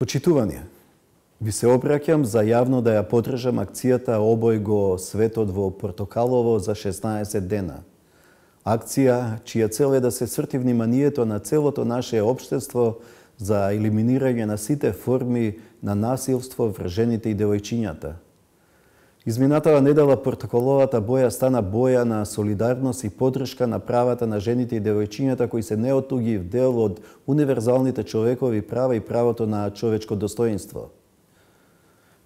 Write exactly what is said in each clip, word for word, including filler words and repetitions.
Почитувани, ви се обраќам за јавно да ја поддржам акцијата Обој го светот во портокалово за шеснаесет дена. Акција чија цел е да се сврти вниманието на целото наше општество за елиминирање на сите форми на насилство врз жените и девојчињата. Изминатава недела портокаловата боја стана боја на солидарност и поддршка на правата на жените и девојчињата кои се неотугив дел од универзалните човекови права и правото на човечко достоинство.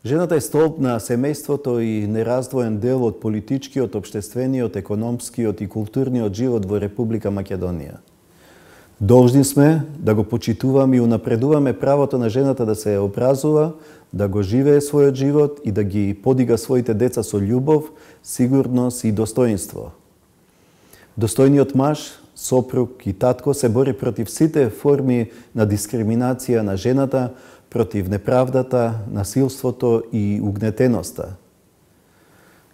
Жената е столб на семејството и нераздвоен дел од политичкиот, општествениот, економскиот и културниот живот во Република Македонија. Должни сме да го почитуваме и унапредуваме правото на жената да се образува, да го живее својот живот и да ги подига своите деца со љубов, сигурност и достоинство. Достојниот маж, сопруг и татко се бори против сите форми на дискриминација на жената, против неправдата, насилството и угнетеноста.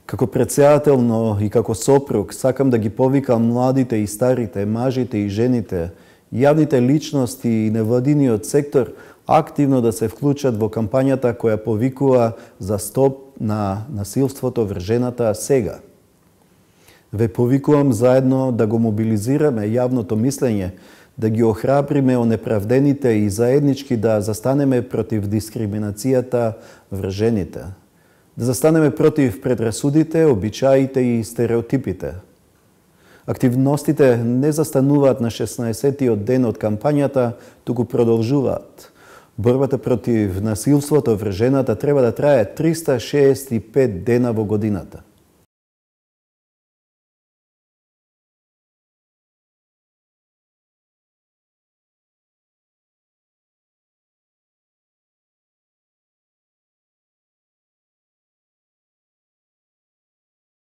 Како претседател, но и како сопруг, сакам да ги повикам младите и старите, мажите и жените, јавните личности и невладиниот сектор активно да се вклучат во кампањата која повикува за стоп на насилството врз жената сега. Ве повикувам заедно да го мобилизираме јавното мислење, да ги охрабриме онеправдените и заеднички да застанеме против дискриминацијата врз жените. Да застанеме против предрасудите, обичаите и стереотипите. Активностите не застануваат на шеснаесеттиот ден од кампањата, туку продолжуваат. Борбата против насилството врз жената треба да трае триста шеесет и пет дена во годината.